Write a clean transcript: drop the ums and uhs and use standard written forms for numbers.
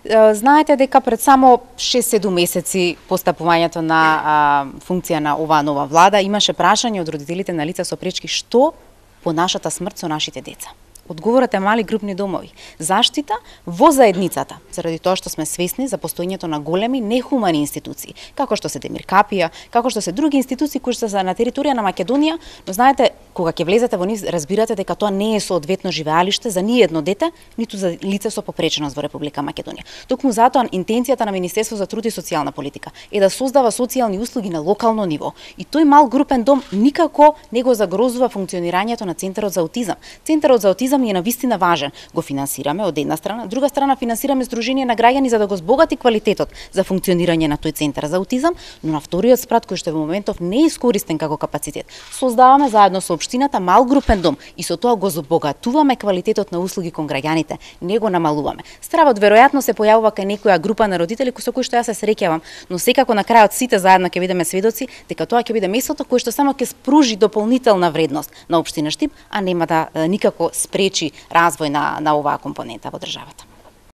Знаете дека пред само 6-7 месеци постапувањето на функција на оваа нова влада имаше прашање од родителите на лица со пречки што по нашата смрт со нашите деца. Одговорот е мали групни домови. Заштита во заедницата, заради тоа што сме свесни за постоењето на големи нехумани институции, како што се Демиркапија, како што се други институции кои што се на територија на Македонија, но знаете, кога ќе влезете во нив, разбирате дека тоа не е соодветно живеалиште за ни едно дете, ниту за лице со попреченост во Република Македонија. Токму затоа интенцијата на Министерство за труд и социјална политика е да создава социјални услуги на локално ниво. И тој мал групен дом никако не го загрозува функционирањето на Центарот за аутизам. Центарот за аутизам е навистина важен. Го финансираме од една страна, од друга страна финансираме Сдружение на граѓани за да го збогати квалитетот за функционирање на тој Центар за аутизам, но на вториот спрат кој што во моментов не е искористен како капацитет, создаваме заедно со општината мал групен дом и со тоа го збогатуваме квалитетот на услуги кон граѓаните, не го намалуваме. Стравот веројатно се појавува кај некоја група на родители со кои што јас се среќавам, но секако на крајот сите заедно ќе бидеме сведоци дека тоа ќе биде местото кое што само ќе спружи дополнителна вредност на општина Штип, а нема да никако спречи развој на оваа компонента во државата.